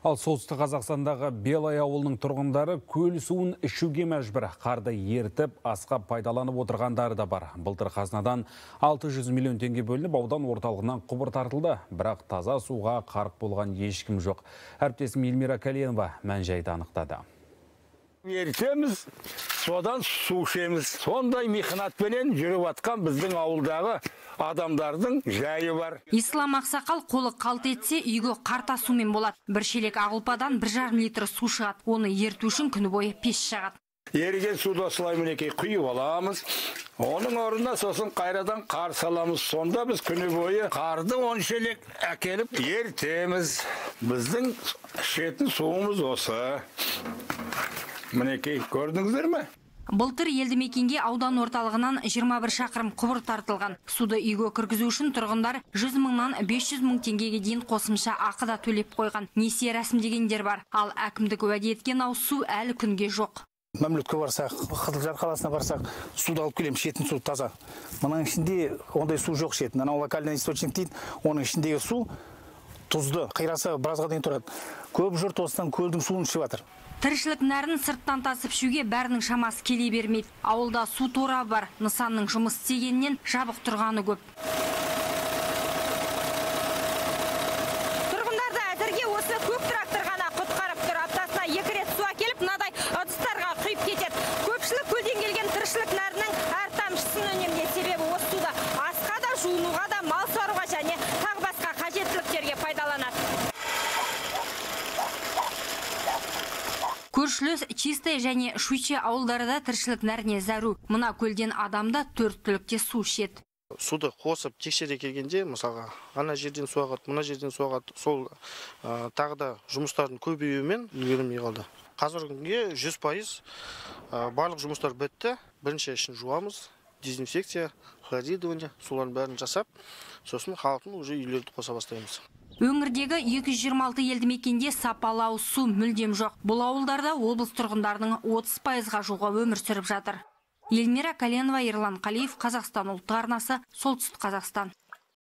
Ал солтүстік Қазақстандағы Белай ауылының тұрғындары көл суын ішуге мәжбүр. Қарды ертіп, асқа пайдаланып отырғандары да бар. Былтыр қазынадан 600 миллион теңге бөлініп, аудан орталығынан құбыр тартылды. Бірақ таза суға қарық болған ешкім жоқ. Әріптесім Эльмира Калиенова мән-жайды анықтады. Ертеміз, содан су ішеміз. Сондай мехнатпенен жүріп атқан біздің ауылдағы адамдардың жайы бар. Ислам ақсақал қолы қалт етсе, үйге қарта сумен болады. Бір шелек ағылпадан 1,5 литр су шығады. Оны ерту үшін күні бойы пеш жағады. Еріген суды осылай мінекей құйып аламыз. Оның орнына сосын қайрадан қар саламыз. Сонда біз күні бойы қарды 10 шелек әкеліп ертеміз. Біздің ішетін суымыз осы. Мінекей, көрдіңіздер ме? Былтыр елді мекенге аудан орталығынан 21 шақырым құбыр тартылған. Суды үйге кіргізу үшін тұрғындар 100 мыңнан 500 мың теңгеге дейін қосымша ақы да төлеп қойған. Несие рәсімдегендер бар. Ал әкімдік уәде еткен ауыз су әлі күнге жоқ. Мәмлетке барсақ, Қызылжар қаласына барсақ, суды алып келем, ішетін су таза. Мұның ішінде ондай су жоқ ішетін. Анау локальный источник дейді, оның ішіндегі су тұзды, қирасы біразға дейін тұрады. Көп жұрт осыдан көлдің суын ішіп жатыр. Тіршілік нәрін сырттан тасып ішуге бәрінің шамасы келе бермейді. Ауылда су торабы бар, нысанның жұмыс істегеннен жабық тұрғаны көп. Тұрғындарды әзірге осы көк трактор ғана құтқарып тұр. Аптасына 2 рет су әкеліп, мынадай ыдыстарға құйып кетеді. Көпшілік көлден келген тіршілік нәрінің әр тамшысын үнемдейді. Себебі осы суды асқа да, жуынуға да, мал сауруға және тағы басқа қажеттіліктерге пайдаланады. Көршілес Чистая және Шуйче ауылдарда тіршілік нәріне зәру. Мына көлден адамда 4 түлікте су ішеді. Суды қосып тексере келгенде, мысалға, ана жерден су ағады, мына жерден су ағады, сол тағы да жұмыстардың көбеюімен үлгермей қалды. Қазіргі күнге 100% барлық жұмыстар бітті. Бірінші ішін жуамыз, дезинфекция, хлоридование, солардың бәрін жасап, сосын халықтың уже үйлерді қоса бастаймыз. Өңірдегі 226 елді мекенде сапалы ауыз су мүлдем жоқ. Бұл ауылдарда облыс тұрғындарының 30%-ға жуығы өмір сүріп жатыр. Эльмира Калиенова, Ерлан Қалиев, Қазақстан ұлттық арнасы, Солтүстік Қазақстан.